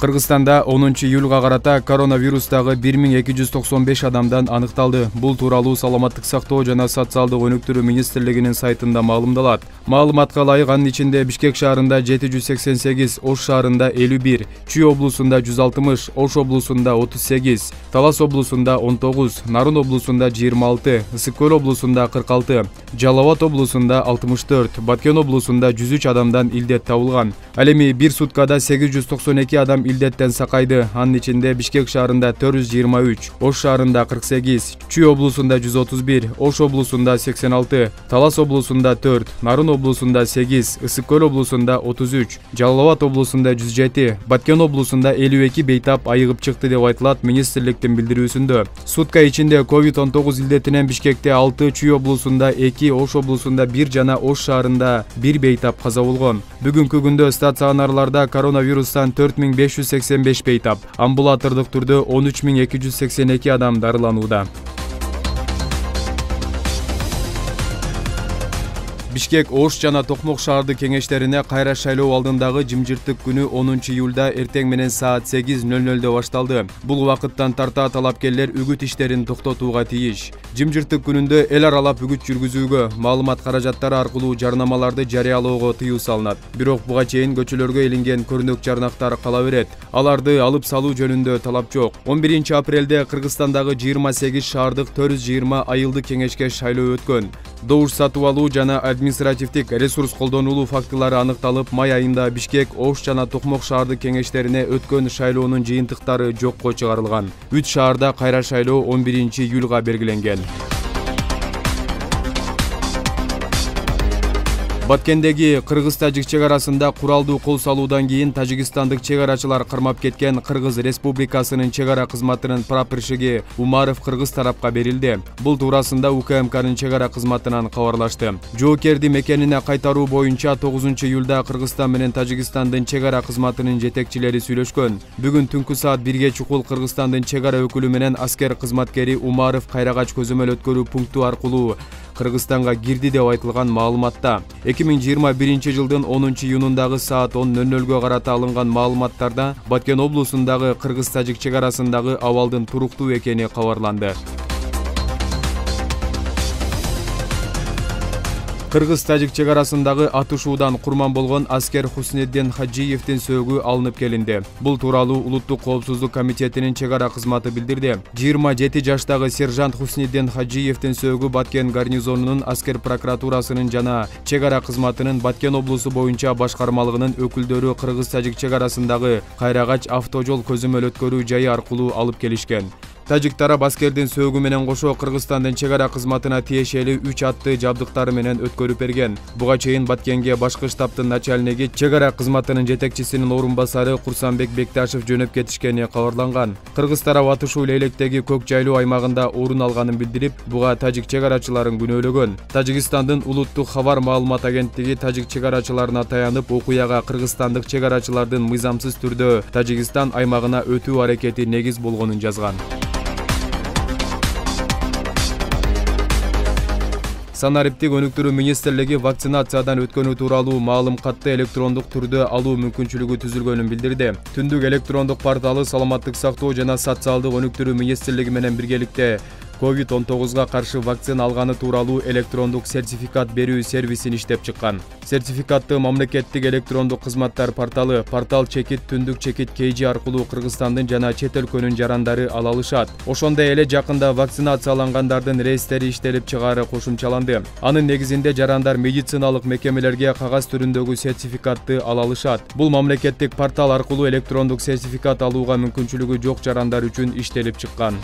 Кыргызстанда 10-июлга карата коронавирустагы 1295 адамдан аныкталды. Бул тууралуу Саламаттык сактоо жана социалдык өнүктүрүү министрлигинин сайтында маалымдалат. Маалыматка ылайык анын ичинде Бишкек шаарында 788, Ош шаарында 51, Чүй облусунда 160, Ош облусунда 38, Талас облусунда 19, Нарын облусунда 26, Ысык көл облусунда 46, Жалал Абад облусунда 64, Баткен облусунда 103 адамдан илдет табылган. Ал эми бир суткада 892 адам илдеттен сакайды. Анын ичинде Бишкек шаарында 423, Ош шаарында 48, Чүй облусунда 131, Ош облусунда 86, Талас облусунда 4, Нарын облусунда 8, Ысык көл облусунда 33, Жалал Абад облусунда 107, Баткен облусунда 52 бейтап айыгып чыкты деп айтылат министрликтин билдирүүсүндө. Сутка ичинде COVID-19 илдетинен Бишкекте 6, Чүй облусунда 2, Ош облусунда 1 жана Ош шаарында 1 бейтап каза болгон. Бүгүнкү күндө стационарларда коронавирустан 4585 бейтап, амбулатордук түрдө 13282 адам дарыланууда. Бишкек, Ош жана Токмок шаардык кеңештерине кайра шайлоо алдындагы жымжырттык күнү 10-июлда эртең менен саат 8:00 башталды. Бул убакыттан тарта талапкерлер үгүт иштерин токтотууга тийиш. Жымжырттык күнүндө эл аралап үгүт жүргүзүүгө, маалымат каражаттары аркылуу жарнамаларды жарыялоого тыюу салынат. Бирок буга чейин көчөлөргө илинген көрүнөк жарнактар кала берет. Аларды алып салуу жөнүндө талап жок. 11 апрелде Кыргызстандагы 28 шаардык 420 айылдык кеңешке шайлоо өткөн. Добуш сатып алуу жана административдик ресурс колдонулуу фактылары аныкталып, май айында Бишкек, Ош жана Токмок шаардык кеңештерине өткөн шайлоонун жыйынтыктары жокко чыгарылган. 3 шаарда кайра шайлоо 11-июлга белгиленген. Баткендеги кыргыз-тажик чек арасында куралдуу кол салуудан кийин тажикстандык чек арачылар кармап кеткен Кыргыз Республикасынын чек ара кызматынын прапорщиги Умаров кыргыз тарапка берилди. Бул туурасында УКМКнын чек ара кызматынан кабарлашты. Жоокерди мекенине кайтаруу боюнча 9-июлда Кыргызстан менен Тажикстандын чек ара кызматынын жетекчилери сүйлөшкөн. Бүгүн түнкү саат 1 чукул Кыргызстандын чек ара өкүлү менен аскер кызматкери Умаров Кайрагач көзөмөл өткөрүү пункту аркылуу Кыргызстанга кирди деп айтылган маалыматта. 2021 жылдын 10-июнундагы саат 10:00 карата алынган маалыматтарда Баткен облусундагы кыргыз-тажик чек арасындагы абалдын туруктуу экени кабарланды. Кыргыз-тажик чек арасындагы атышуудан курман болгон аскер Хуснеддин Хаджиевдин сөөгү алынып келинди. Бул тууралуу Улуттук коопсуздук комитетинин чек ара кызматы билдирди. 27 жаштагы сержант Хуснеддин Хаджиевдин сөөгү Баткен гарнизонунун аскер прокуратурасынын жана чек ара кызматынын Баткен облусу боюнча башкармалыгынын өкүлдөрү кыргыз-тажик чек арасындагы Кайрагач автожол көзөмөл өткөрүү жайы аркылуу алып келишкен. Тажик тарап аскердин сөөгү менен кошо Кыргызстандын чек ара кызматына тиешелүү 3 атты жабдыктары менен өткөрүп берген. Буга чейин Баткенге башкы штабтын начальниги чек ара кызматынын жетекчисинин орун басары Курсанбек Бекташев жөнөп кетишкени кабарланган. Кыргыз тарап атышуу Лейлектеги көк жайлуу аймагында орун алганын билдирип, буга тажик чек арачыларын күнөөлөгөн. Тажикстандын улуттук кабар маалымат агенттиги тажик чек арачыларына таянып, окуяга кыргызстандык чек арачылардын мыйзамсыз түрдө Тажикстан аймагына өтүү аракети негиз болгонун жазган. Санариптик өнүктүрүү министрлиги вакцинациядан өткөнү тууралуу маалым катты электрондук түрдө алуу мүмкүнчүлүгү түзүлгөнүн билдирди. Түндүк электрондук порталы Саламаттык сактоо жана социалдык өнүктүрүү министрлиги менен биргеликте COVID-19 каршы вакцина алганы тууралуу электрондук сертификат берүү сервисин иштеп чыккан. Сертификатты мамлекеттик электрондук кызматтар порталы Портал чекит түндүк чекит KG аркылуу Кыргызстандын жана чет өлкөнүн жарандары ала алышат. Ошондой эле жакында вакцинациялангандардын реестри иштелип чыгаары кошумчаланды. Анын негизинде жарандар медициналык мекемелерге кагаз түрүндөгү сертификатты ала алышат. Бул мамлекеттик портал аркылуу электрондук сертификат алууга мүмкүнчүлүгү жок жарандар үчүн иштелип чыккан.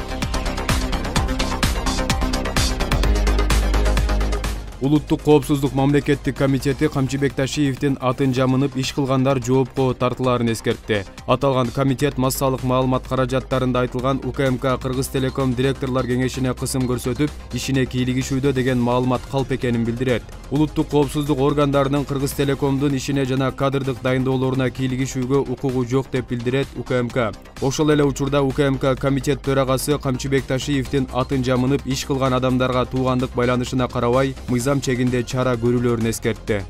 Улуттук коопсуздук мамлекеттик комитети Камчыбек Ташиевдин атын жамынып иш кылгандар жоопко тартылаарын эскертти. Аталган комитет массалык маалымат каражаттарында айтылган УКМК Кыргыз Телеком директорлор кеңешине кысым көрсөтүп, ишине кийлигишүүдө деген маалымат калп экенин билдирет. Улуттук коопсуздук органдарынын Кыргыз Телекомдун ишине жана кадрдык дайындоолоруна кийлигишүүгө укугу жок деп билдирет УКМК. Ошол эле учурда УКМК комитет төрагасы Камчыбек Ташиевдин атын жамынып иш кылган адамдарга туугандык байланышына карабай, мыйзам чегинде чара көрүлөрүн эскертти.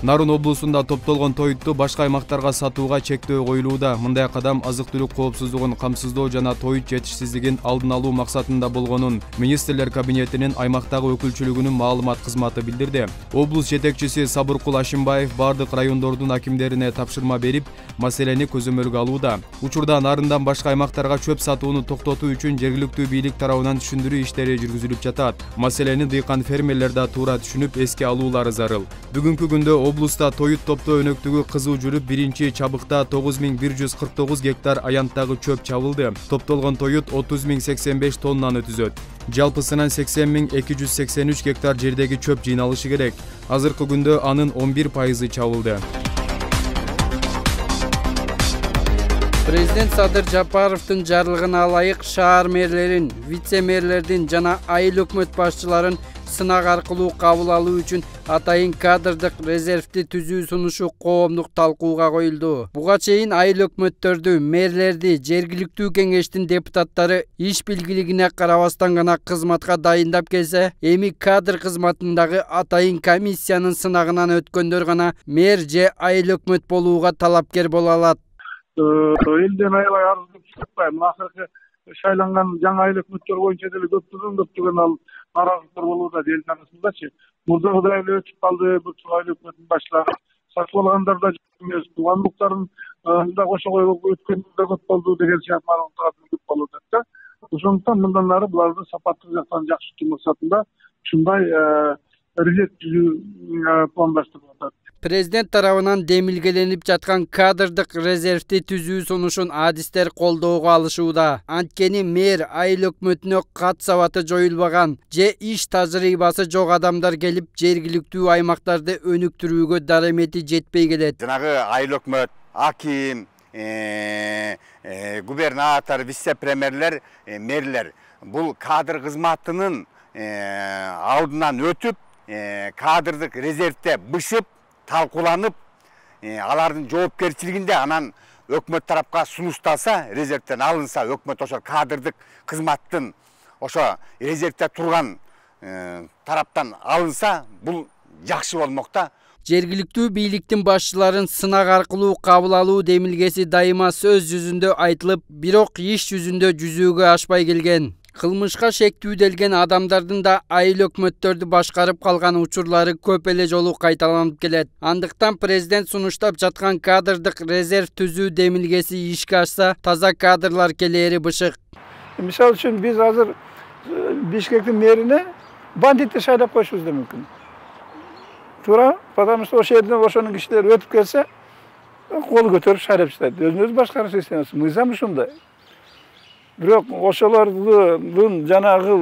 Нарын облусунда топтолгон тоютту башка аймактарга сатууга чектөө коюлууда. Мындай кадам азык-түлүк коопсуздугун камсыздоо жана тоют жетишсиздигин алдын алуу максатында болгонун министрлер кабинетинин аймактагы өкүлчүлүгүнүн маалымат кызматы билдирди. Облус жетекчиси Сабыркул Ашимбаев бардык райондордун акимдерине тапшырма берип, маселени көзөмөлгө алууда. Учурда Нарындан башка аймактарга чөп сатууну токтотуу үчүн жергиликтүү бийлик тарабынан түшүндүрүү иштери жүргүзүлүп жатат. Маселени дыйкан фермерлер да туура түшүнүп, эске алуулары зарыл. Бүгүнкү күндө облуста тоют топтоо өнөктүгү кызуу жүрүп, биринчи чабыкта 9149 гектар аянттагы чөп чабылды. Топтолгон тоют 30.085 тоннаны түзөт. Жалпысынан 80.283 гектар жердеги чөп жыйналышы керек. Азыркы күндө анын 11% чабылды. Президент Садыр Жапаровдун жарлыгына ылайык шаар мэрлерин, вице-мэрлердин жана айыл өкмөт башчыларын сынак аркылуу кабыл алуу үчүн атайын кадрдык резервди түзүү сунушу коомдук талкууга коюлду. Буга чейин айыл өкмөттөрдү, мэрлерди жергиликтүү кеңештин депутаттары иш билгилигине карабастан гана кызматка дайындап келсе, эми кадр кызматындагы атайын комиссиянын сынагынан өткөндөр гана мэр же айыл өкмөт болууга талапкер боло алат. Элден аябай арыз көп чыкпайм. Акыркы шайланган жаңы айыл өкмөттөр боюнча деле көптөгөн ал наразылыктар болууда эл арасындачы. Мурдагыдай эле өтүп калды. Бул айыл өкмөтүнүн башлары сатып алгандар да эмес, туугандыктарын да кошо коюп өткөндөр да көп болду деген сыяктуу арыздыктар көп болууда да. Ошондуктан мындан ары буларды сапаттуу жактан жакшыртуу максатында ушундай резерв түзүү пландаштырылып атат. Президент тарабынан демилгеленип жаткан кадрдык резервди түзүү сунушун адистер колдоого алышууда. Анткени мэр айыл өкмөтүнө кат сабаты жоюлбаган же иш тажрыйбасы жок адамдар келип жергиликтүү аймактарды өнүктүрүүгө даремети жетпей келет. Жанагы айыл өкмөт, аким, губернатор, вице-премьерлер, мэрлер бул кадр кызматынын алдынан өтүп, кадрдык резервде бышып, талкууланып, алардын жоопкерчилигинде анан өкмөт тарапка сунушталса, резервден алынса, өкмөт ошо кадрдык кызматтын ошо резервде турган тараптан алынса, бул жакшы болмок да. Жергиликтүү бийликтин башчыларын сынак аркылуу кабыл алуу демилгеси дайыма сөз жүзүндө айтылып, бирок иш жүзүндө жүзүүгө ашпай келген. Кылмышка шектүүделген адамдардын да айыл өкмөттөрдү башкарып калган учурлары көп эле жолу кайталанып келет. Андыктан президент сунуштап жаткан кадрдык резерв түзүү демилгеси ишке ашса, таза кадрлар келери бышык. Мисалы үчүн биз азыр Бишкектин мэрине бандитти шайлап коюшубуз да мүмкүн. Туура, потому что ошол жерден ошонун кишилери өтүп келсе, кол көтөрүп шайлап жатат. Өзүн өзү башкаруу системасы мыйзам ушундай. Бирок ошолордун жанагы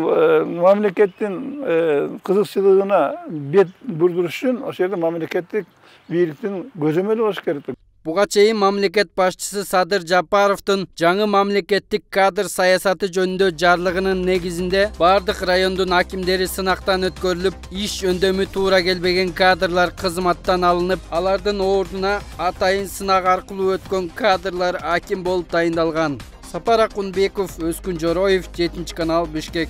мамлекеттин кызыкчылыгына бет бурдуруш үчүн ошол жерде мамлекеттик бийликтин көзөмөлү болуш керек. Буга чейин мамлекет башчысы Садыр Жапаровдун жаңы мамлекеттик кадр саясаты жөнүндө жарлыгынын негизинде бардык райондун акимдери сынактан өткөрүлүп, иш өндөмү туура келбеген кадрлар кызматтан алынып, алардын ордуна атайын сынак аркылуу өткөн кадрлар аким болуп дайындалган. Сапар Акунбеков, Өзкүн Жороев, 7 канал, Бишкек.